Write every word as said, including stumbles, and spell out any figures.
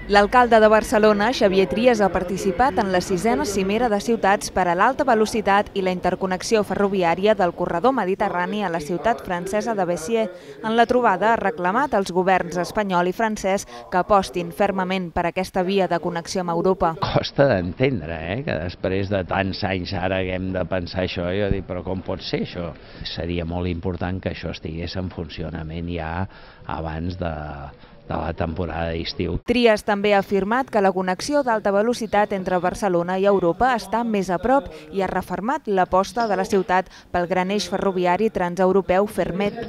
L'alcalde de Barcelona, Xavier Trias, ha participat en la sisena cimera de ciutats per a l'alta velocitat i la interconnexió ferroviària del corredor mediterrani a la ciutat francesa de Béziers. En la trobada ha reclamat als governs espanyol i francès que apostin fermament per aquesta via de connexió amb Europa. Costa d'entendre, eh? que després de tants anys ara haguem de pensar això. Jo dic, però com pot ser això? Seria molt important que això estigués en funcionament ja abans de... de la temporada d'estiu. Trias també ha afirmat que la connexió d'alta velocitat entre Barcelona i Europa està més a prop i ha refermat l'aposta de la ciutat pel gran eix ferroviari transeuropeu Fermet.